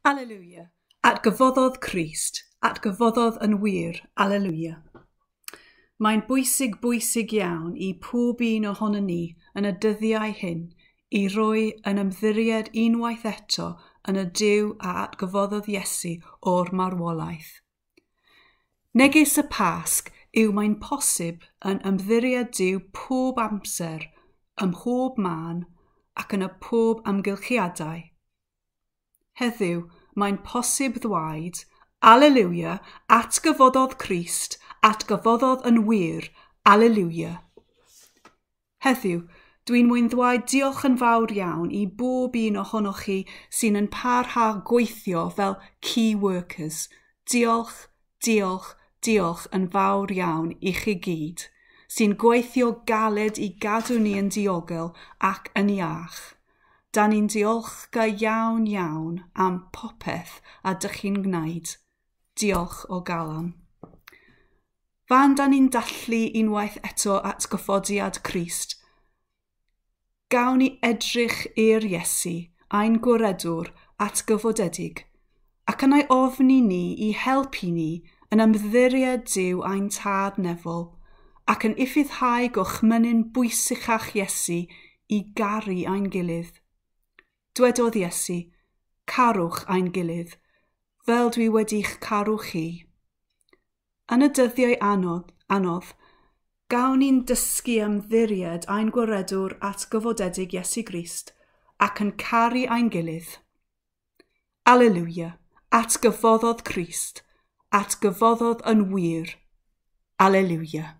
Alleluia. Atgyfoddodd Crist, atgyfoddodd yn wir. Alleluia. Mae'n bwysig bwysig iawn i pob un ohonon ni yn y dyddiau hyn i roi yn ymddiried unwaith eto yn y Duw a atgyfoddodd Iesu o'r marwolaeth. Neges y Pasg yw mae'n posib yn ymddiried Duw pob amser, ym mhob man ac yn y pob amgylchiadau. Heddiw, mae'n posib ddweud, Alleluia, atgyfoddodd Crist, atgyfoddodd yn wir, Alleluia. Heddiw, dwi'n mwyn ddweud diolch yn fawr iawn i bob un ohonoch chi sy'n yn parhau gweithio fel key workers. Diolch, diolch, diolch yn fawr iawn i chi gyd, sy'n gweithio galed i gadw ni yn diogel ac yn iach. Da ni'n diolchgar iawn iawn am popeth a dych chi'n gwneud. Diolch o galon. Fan da ni'n dathlu unwaith eto atgyfodiad Crist, gawn ni edrych i'r Iesu, ein gwaredwr atgyfodedig, ac yn ei ofni ni i helpu ni yn ymddiried Duw ein tad nefol, ac yn ufuddhau gorchmynnyn bwysicach Iesu i garu ein gilydd. Dwedodd Iesu, carwch ein gilydd, fel dwi wedi'ch caru chi. Yn y dyddiau anodd, anodd, gawn ni'n dysgu ymddiried ein gwaredwr atgyfodedig Iesu Grist ac yn caru ein gilydd. Alleluia, atgyfoddodd Crist, atgyfoddodd yn wir. Alleluia.